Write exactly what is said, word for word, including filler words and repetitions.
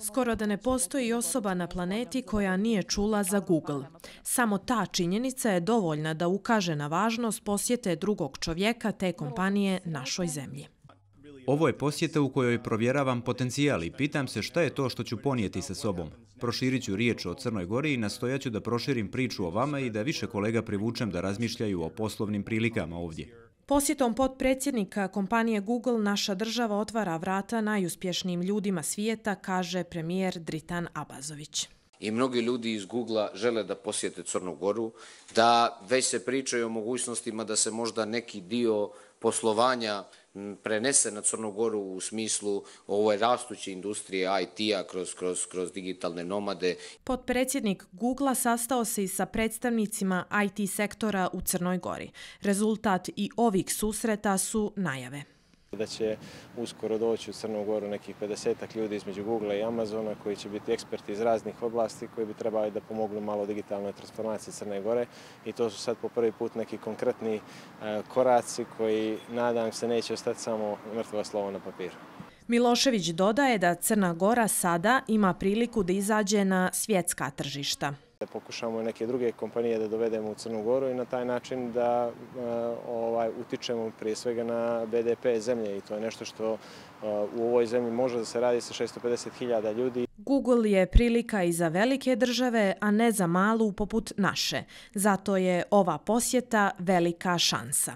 Skoro da ne postoji osoba na planeti koja nije čula za Google. Samo ta činjenica je dovoljna da ukaže na važnost posjete drugog čovjeka te kompanije našoj zemlji. Ovo je posjeta u kojoj provjeravam potencijal i pitam se šta je to što ću ponijeti sa sobom. Proširit ću riječ o Crnoj Gori i nastojaću da proširim priču o vama i da više kolega privučem da razmišljaju o poslovnim prilikama ovdje. Posjetom potpredsjednika kompanije Google naša država otvara vrata najuspješnijim ljudima svijeta, kaže premijer Dritan Abazović. I mnogi ljudi iz Googlea žele da posjete Crnu Goru, da već se pričaju o mogućnostima da se možda neki dio poslovanja prenese na Crnu Goru u smislu ove rastuće industrije I T-a kroz, kroz, kroz digitalne nomade. Potpredsjednik Googlea sastao se i sa predstavnicima I T sektora u Crnoj Gori. Rezultat i ovih susreta su najave. Da će uskoro doći u Crnu Goru nekih pedesetak ljudi između Googlea i Amazona koji će biti eksperti iz raznih oblasti koji bi trebali da pomognu malo digitalnoj transformaciji Crne Gore i to su sad po prvi put neki konkretni koraci koji, nadam se, neće ostati samo mrtvo slovo na papiru. Milošević dodaje da Crna Gora sada ima priliku da izađe na svjetska tržišta. Da pokušamo neke druge kompanije da dovedemo u Crnu Goru i na taj način da ovaj, utičemo prije svega na B D P zemlje i to je nešto što u ovoj zemlji može da se radi sa šesto pedeset hiljada ljudi. Google je prilika i za velike države, a ne za malu poput naše. Zato je ova posjeta velika šansa.